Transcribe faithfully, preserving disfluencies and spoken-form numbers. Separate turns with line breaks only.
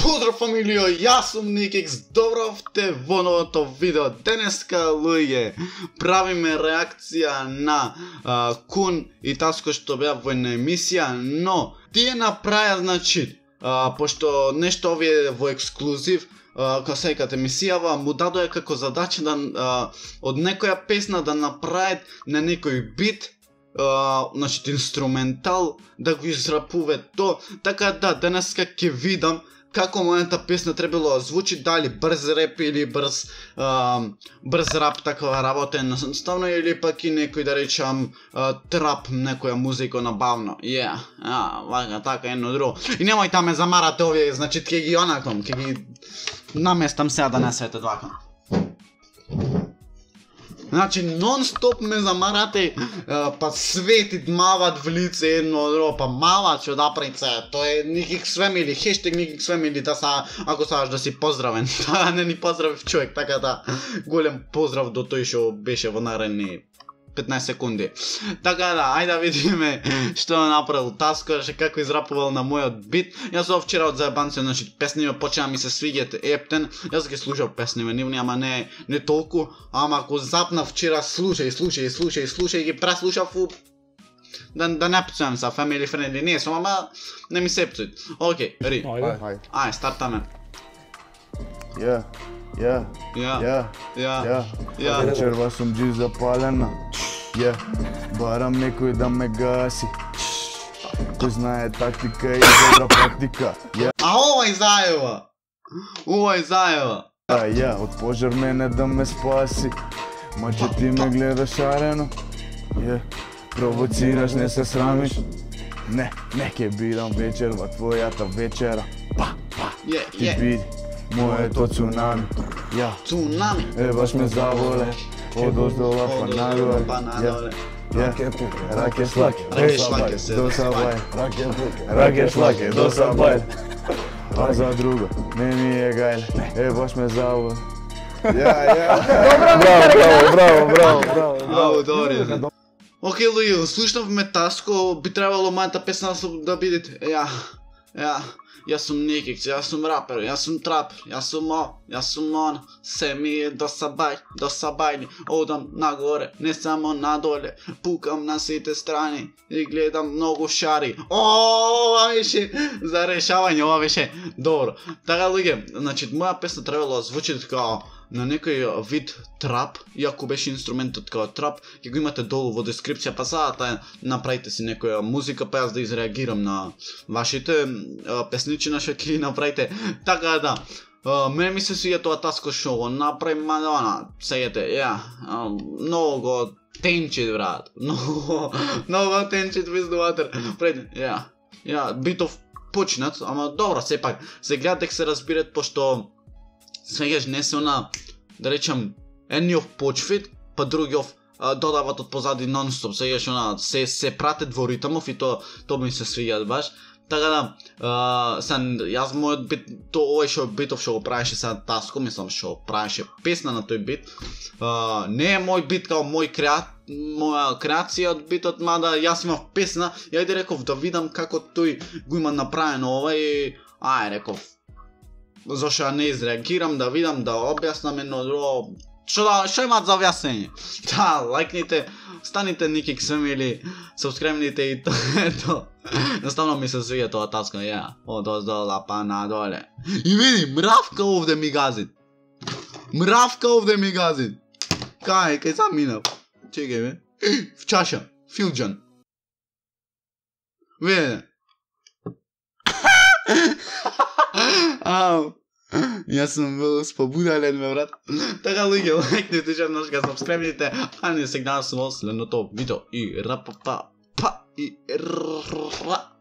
Поздрав фамилио, јас сум Никикс, добровте во новото видео. Денеска, луѓе, правиме реакција на а, Кун и Таско што беа во една емисија, но тие направија, значи, а, пошто нешто овие во ексклузив, кога секат емисијава, му дадоја како задача да а, од некоја песна да направат на некој бит, Uh, значи инструментал, да го израпуве то. Така да, денеска ќе видам како мојата песна требало да звучи, дали брз реп или брз uh, брз рап, такова работа едноставно, или пак и некој, да речам, uh, трап, некоја музика набавно. Ја, yeah. Вака, така, едно друго. И немој да ме замарате овие, значи ќе ги онаком, ќе ги наместам сега да не свете вака. Значи, нон-стоп ме замарате, па свети мават в лице едно друго, па мават што да прице, тоа е Никикс Фемили, хештег Никикс Фемили, да са, ако сакаш да си поздравен, да не ни поздравив човек, така да, голем поздрав до тој што беше во наредни петнаесет секунди. Така да, ајде да видиме што направил Таско, како израпувал на мојот бит. Јас од вчера од заебанци, значи песни ме почна ми се свиѓат ептен. Јас ги слушав песни ме нивни, ама не не толку, ама ако запна вчера слушај, слушај, слушај, слушај, ги преслушав у да да не пцувам са family friendly, не сум, ама не ми се пцуит. Океј, ри.
Ајде.
Ај, стартаме.
Ја, ја,
Ја,
ја,
ја,
ја.
ја.
Вечерва сум джи запалена. Ја, барам некој да ме гаси. Кој знае тактика и добра практика. Ја,
А овај заева. Овај заева.
а ја, од пожар мене да ме спаси. Маче ти ме гледаш шарено. Ја, провоцираш, не се срамиш. Не, не ке бирам вечерва, твојата вечера. Па, па,
Је,
ти
је.
биди моето цунами. Ја,
Цунами.
е баш ме заволе. Од оздола па нагоре.
Па надоле.
Раке раке шлаке,
Раке шлаке се
до сабај. Раке шлаке, до сабај. А за друго, не ми е гајле, е баш ме заволе. Ја, ја. Браво, браво, браво, браво.
Ау, добре. Океј, луѓе, слушнавме Таско, би требало мојата песна да бидете. Ја, ја, јас сум Никикс, јас сум рапер, јас сум трапер, јас сум о, јас сум он, се ми е до сабај, до сабајни, одам нагоре, не само надоле, пукам на сите страни и гледам многу шари. О, ова беше за решавање, ова беше добро. Така, луѓе, значи, моја песна требало да звучи како на некој вид трап, иако беше инструментот како трап, ќе го имате долу во дескрипција, па сада направите си некоја музика, па јас да изреагирам на вашите песничина што ќе направите. Така да, мене ми се свиѓа тоа Таско шо го направи, Мадона, сејете, ја, многу тенчит, брат, многу, многу тенчит виздуватер, пред, ја, ја, битов почнат, ама добро, сепак, се гледа дека се разбират, пошто свегаш не се она, да речам, едниот почвит, па другиот додават од позади нон-стоп, свегаш она, се, се пратат во ритмов и то, то ми се свиѓат баш. Така да, uh, сан, јас мојот бит, то овој шо битов што го правеше сега Таско, мислам што правеше песна на тој бит, uh, не е мој бит као мој креат, моја креација од битот, мада јас имав песна, и ајде реков да видам како тој го има направено ова и ај реков, зашто не изреагирам, да видам, да објаснам едно друго, што да, што имаат за објаснење? Да, лајкните, станите Никикс Фемили, сабскрибните и то ето. Наставно ми се свиѓа тоа Таско, ја, од оздола па надоле. И види, мравка овде ми гази. Мравка овде ми гази. Кај, кај сам минав. Чекај бе. В чаша, филџан. Види. Ау. Јас сум бил спобудален, ме брат. Така, луѓе, лајкните, шарношка, сабскрибните, а не се гледам со следното видео и рапапа, па и ра.